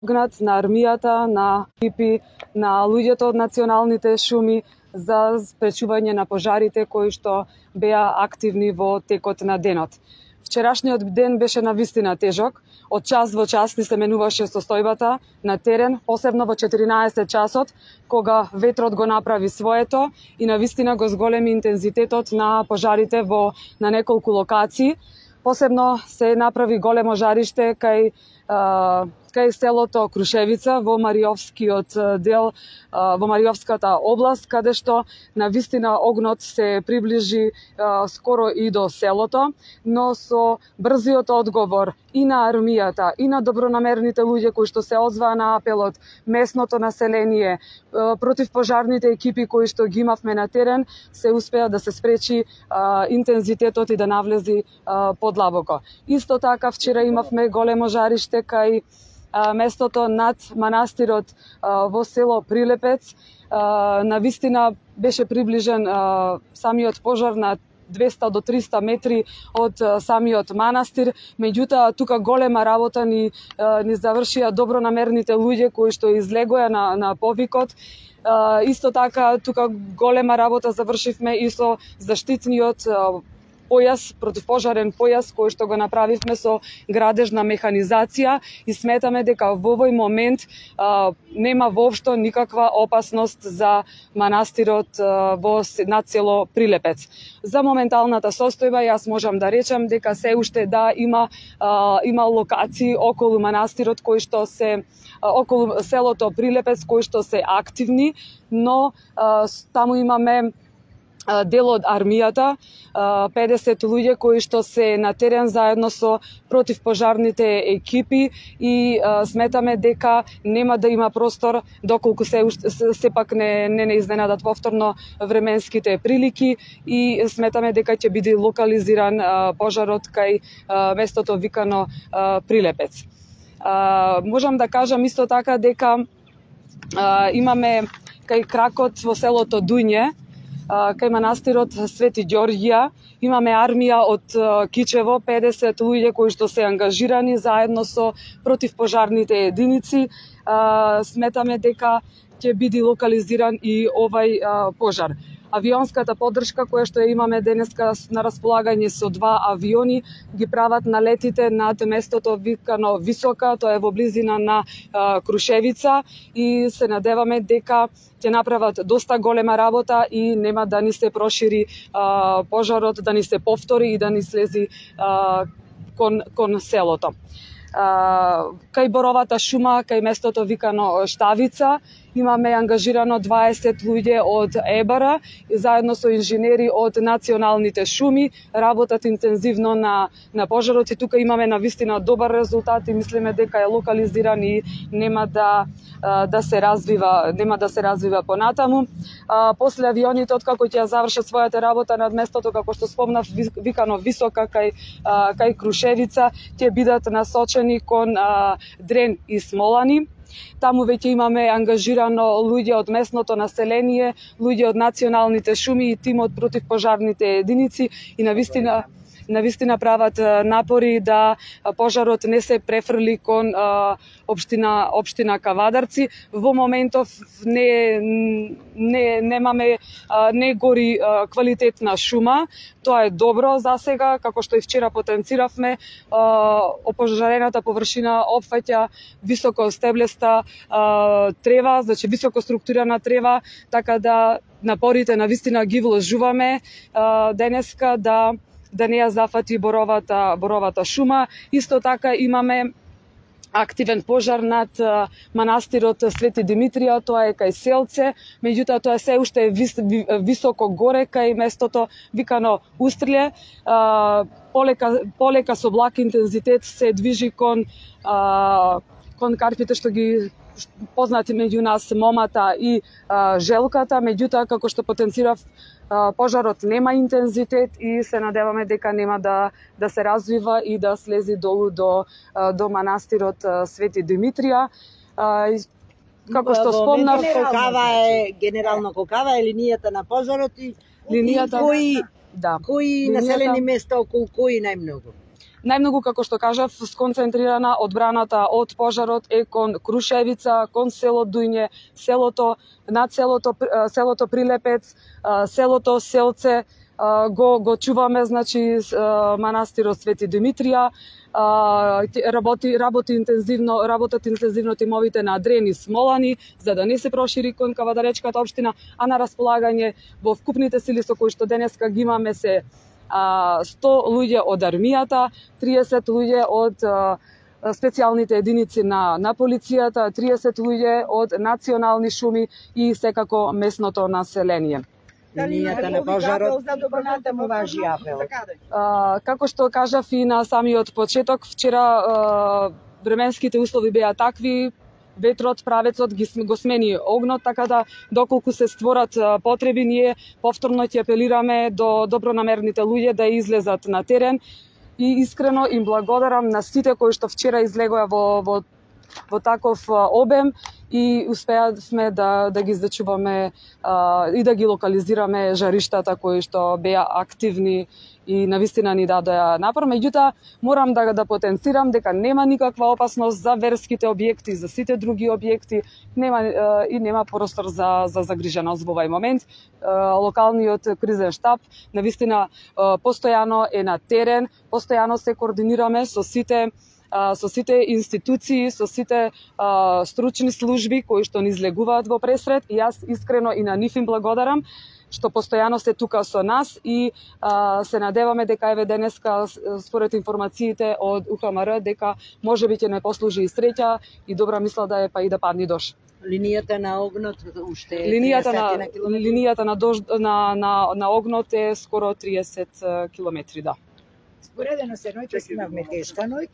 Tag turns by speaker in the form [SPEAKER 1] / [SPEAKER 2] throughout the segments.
[SPEAKER 1] помогнат на армијата, на екипи, на луѓето од националните шуми за спречување на пожарите кои што беа активни во текот на денот. Вчерашниот ден беше навистина тежок. Од час во час ни се менуваше состојбата на терен, посебно во 14 часот, кога ветрот го направи своето и навистина го зголеми интензитетот на пожарите на неколку локации. Посебно се направи големо жариште кај селото Крушевица во Мариовскиот дел, во Мариовската област, каде што навистина огнот се приближи скоро и до селото, но со брзиот одговор и на армијата, и на добронамерните луѓе кои што се озваа на апелот, местното население, противпожарните екипи кои што ги имавме на терен, се успеа да се спречи интензитетот и да навлези подлабоко. Исто така вчера имавме големо жариште кај местото над манастирот во село Прилепец. Навистина беше приближен самиот пожар на 200 до 300 метри од самиот манастир, меѓутоа тука голема работа ни завршија добронамерните луѓе кои што излегоа на повикот. Исто така тука голема работа завршивме и со заштитниот појас, противпожарен појас кој што го направивме со градежна механизација и сметаме дека во овој момент нема воопшто никаква опасност за манастирот над село Прилепец. За моменталната состојба јас можам да речам дека се уште има локации околу манастирот кои што се околу селото Прилепец кои што се активни, но таму имаме дел од армијата, 50 луѓе кои што се на терен заедно со противпожарните екипи и сметаме дека нема да има простор доколку сепак не изненадат повторно временските прилики и сметаме дека ќе биде локализиран пожарот кај местото викано Прилепец. Можам да кажам исто така дека имаме кај кракот во селото Дуње, кај манастирот Свети Ѓорѓија, имаме армија од Кичево, 50 луѓе кои што се ангажирани заедно со противпожарните единици. Сметаме дека ќе биде локализиран и овај пожар. Авионската поддршка која што ја имаме денеска на располагање со 2 авиони ги прават налетите над местото викано Висока, тоа е во близина на Крушевица и се надеваме дека ќе направат доста голема работа и нема да ни се прошири пожарот, да ни се повтори и да ни слези кон селото. Кај Боровата шума, кај местото викано Штавица, имаме ангажирано 20 луѓе од ЕБР заедно со инженери од националните шуми, работат интензивно на пожарот и тука имаме навистина добар резултат и мислиме дека е локализиран и нема да се развива понатаму. После авионите откако ќе завршат својата работа над местото како што спомнав викано Висока кај Крушевица, ќе бидат насочени кон Дрен и Смолани. Таму веќе имаме ангажирано луѓе од местното население, луѓе од националните шуми и тим од противпожарните единици и навистина прават напори да пожарот не се префрли кон општина Кавадарци. Во моментов не гори квалитетна шума. Тоа е добро за сега, како што и вчера потенциравме. Опожарената површина опфаќа високо стеблеста трева, значи високо структурирана трева, така да напорите навистина ги вложуваме денеска да не ја зафати боровата шума. Исто така имаме активен пожар над манастирот Свети Димитрија, тоа е кај Селце, меѓутоа тоа се уште високо горе кај местото викано Устриле. Полека со благ интензитет се движи кон карпите што ги познати меѓу нас момата и желката, меѓутоа како што потенцирав пожарот нема интензитет и се надеваме дека нема да се развива и да слези долу до манастирот Свети Димитрија. Како што спомнав,
[SPEAKER 2] генерално колкава е линијата на пожарот и кои населени места околу кои најмногу?
[SPEAKER 1] Најмногу, како што кажав, сконцентрирана одбраната од пожарот е кон Крушевица, кон село Дујње, селото Прилепец, селото Селце, го чуваме, значи, манастирот Свети Димитрија, работат интензивно тимовите на Дрени Смолани, за да не се прошири кон Кавадаречката општина, а на располагање во вкупните сили со кои што денеска ги имаме се 100 луѓе од армијата, 30 луѓе од специјалните единици на полицијата, 30 луѓе од национални шуми и секако местното население.
[SPEAKER 2] Линијата на пожарот понатаму важи апел.
[SPEAKER 1] Како што кажав и на самиот почеток, вчера временските услови беа такви, ветрот, правецот го смени огнот, така да доколку се створат потреби, ние повторно ќе апелираме до добронамерните луѓе да излезат на терен и искрено им благодарам на сите кои што вчера излегоа во таков обем и успеавме да ги зачуваме и да ги локализираме жариштата кои што беа активни и навистина ни дадоа напор. Меѓутоа, морам да потенцирам дека нема никаква опасност за верските објекти, за сите други објекти, нема простор за загриженост во овај момент. Локалниот кризен штаб навистина постојано е на терен, постојано се координираме со сите институции, со сите стручни служби кои што ни излегуваат во пресред, и јас искрено и на нив им благодарам што постојано се тука со нас и се надеваме дека еве денеска според информациите од УХМР дека можеби ќе не послужи и среќа и добра мисла да е па и да падни дожд.
[SPEAKER 2] Линијата на огнот уште
[SPEAKER 1] линијата на огнот е скоро 30 километри, да.
[SPEAKER 3] Споредено се ноќе имавме тешка ноќ.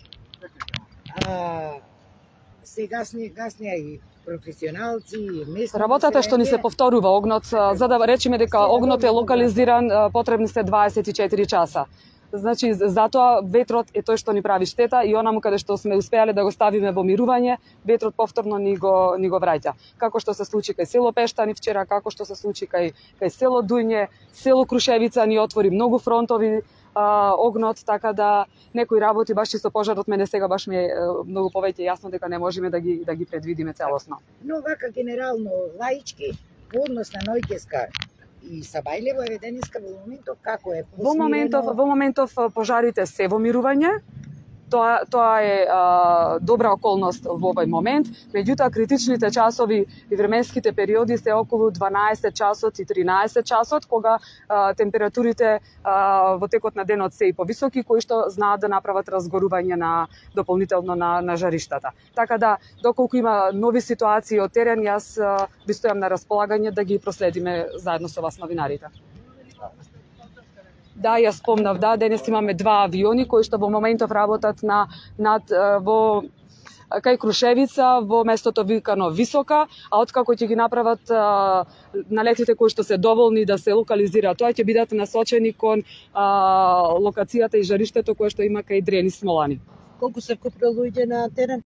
[SPEAKER 3] Се гаснија и професионалци, и местни.
[SPEAKER 1] Работата што ни се повторува огнот, за да речеме дека огнот е локализиран, потребни се 24 часа. Значи, затоа ветрот е тој што ни прави штета и онаму каде што сме успеале да го ставиме во мирување, ветрот повторно ни го враќа. Како што се случи кај село Пештани вчера, како што се случи кај село Дујње, село Крушевица ни отвори многу фронтови огнот, така да некои работи баш со пожарот мене сега баш ми е многу повеќе јасно дека не можеме да ги предвидиме целосно.
[SPEAKER 3] Но вака генерално лаички по однос на ноќеска и Сабајлево е денеска во моментов како е посмирено?
[SPEAKER 1] Во моментов пожарите се во мирување. Тоа е добра околност во овој момент, меѓутоа критичните часови и временските периоди се околу 12 часот и 13 часот, кога температурите во текот на денот се и повисоки, кои што знаат да направат разгорување дополнително на жариштата. Така да, доколку има нови ситуации од терен, јас ви стојам на располагање да ги проследиме заедно со вас новинарите. Да, јас спомнав, денес имаме 2 авиони кои што во моментов работат кај Крушевица, во местото викано Висока, а откако ќе ги направат налетите кои што се доволни да се локализираат, тоа ќе бидат насочени кон локацијата и жариштето кое што има кај Дрени Смолани.
[SPEAKER 2] Колку се вкупно луѓе на терен?